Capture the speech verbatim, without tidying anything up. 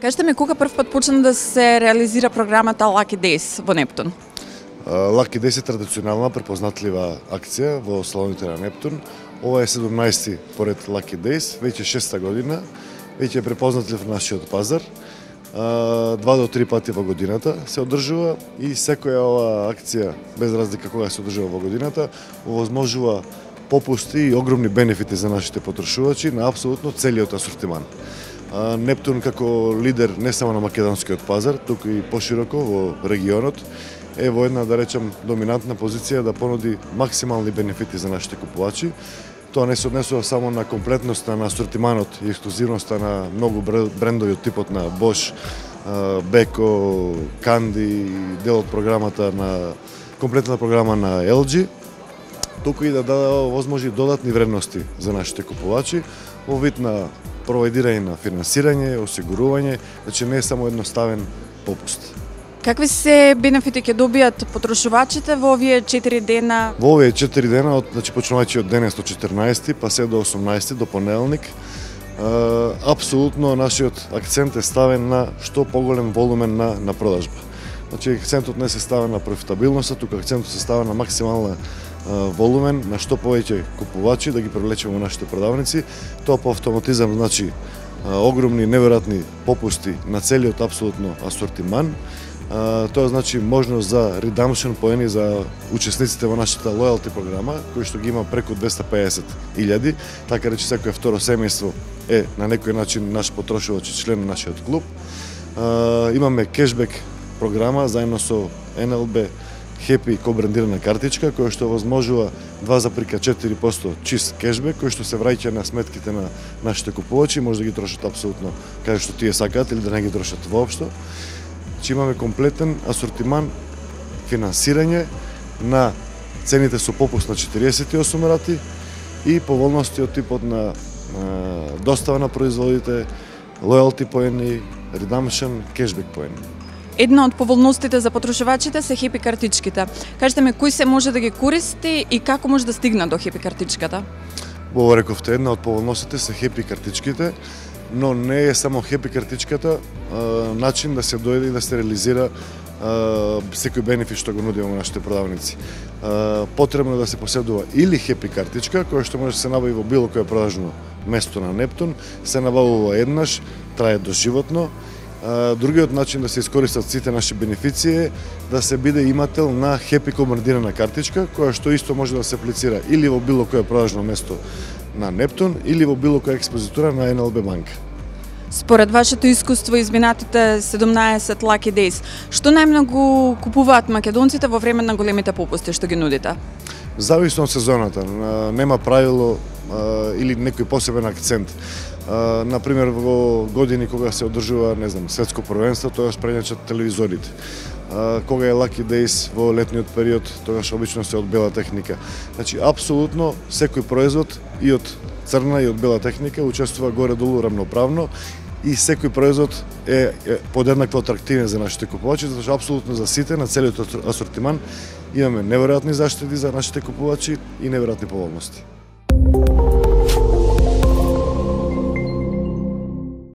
Кажете ми, кога прв пат почна да се реализира програмата Lucky Days во Нептун? Lucky Days е традиционална, препознатлива акција во салоните на Нептун. Ова е седумнаести поред Lucky Days, веќе шеста година, веќе е препознатлив нашиот пазар. Два до три пати во годината се одржува и секоја ова акција, без разлика кога се одржува во годината, овозможува попусти и огромни бенефити за нашите потрошувачи на апсолутно целиот асортиман. Нептун како лидер не само на македонскиот пазар, туку и пошироко во регионот, е во една, да речем, доминантна позиција да понуди максимални бенефити за нашите купувачи. Тоа не се однесува само на комплетноста на асортиманот и ексклузивноста на многу брендови од типот на Bosch, Beko, Candy, дел од програмата на комплетната програма на Ел Џи, туку и да даде возможни додатни вредности за нашите купувачи во вид на проведирање на финансирање, осигурување, значи не е само едноставен попуст. Какви се бенефити ќе добијат потрошувачите во овие четири дена? Во овие четири дена, од, значи почнувајќи од денес од четрнаесети па се до осумнаесети до понеделник, апсолутно нашиот акцент е ставен на што поголем волумен на, на продажба. Значи акцентот не се става на профитабилноста, туку акцентот се става на максимална волумен, на што повеќе купувачи да ги привлечеме во нашите продавници. Тоа по автоматизам значи огромни неверојатни попусти на целиот апсолутно асортиман. Тоа значи можност за redemption поени за учесниците во нашата loyalty програма, кој што ги има преку двесте и педесет илјади, така рече секој второ семејство е на некој начин наш потрошувач и член на нашиот клуб. Имаме кешбек програма заедно со Ен Ел Би Happy кобрендирана картичка, која што возможува два запирка четири проценти чист кешбек, кој што се враќа на сметките на нашите купувачи, може да ги трошат апсолутно каде што тие сакаат или да не ги трошат воопшто. Че имаме комплетен асортиман, финансирање на цените со попуст на четириесет и осум рати и поволности од типот на достава на производите, loyalty поени, redemption, кешбек поени. Една од поволностите за потрошувачите се Happy картичките. Кажете ми, кој се може да ги користи и како може да стигне до Happy картичката? Во рековте, една од поволностите се Happy картичките, но не е само Happy картичката начин да се дојде и да се реализира секој бенефит што го нудиме во нашите продавници. Потребно е да се поседува или Happy картичка, која што може да се набави во било кое продажно место на Нептун, се набавува еднаш, трае доживотно. Другиот начин да се искористат сите наши бенефиции е да се биде имател на Happy командирана картичка, која што исто може да се аплицира или во било кое продажно место на Нептун или во било која експозитура на Ен Ел Би банка. Според вашето искуство изминатите седумнаесет Lucky Days, што најмногу купуваат македонците во време на големите попусти што ги нудите? Зависно од сезоната, нема правило или некој посебен акцент. Например, во години кога се одржува, не знам, светско првенство, тогаш прењачат телевизорите. Кога е Lucky Days во летниот период, тогаш обично се од бела техника. Значи, апсолутно секој производ и од црна и од бела техника учествува горе-долу рамноправно и секој производ е, е подеднакво атрактивен за нашите купувачи, затоа што апсолутно за сите на целиот асортиман имаме неверојатни заштеди за нашите купувачи и неверојатни поволности.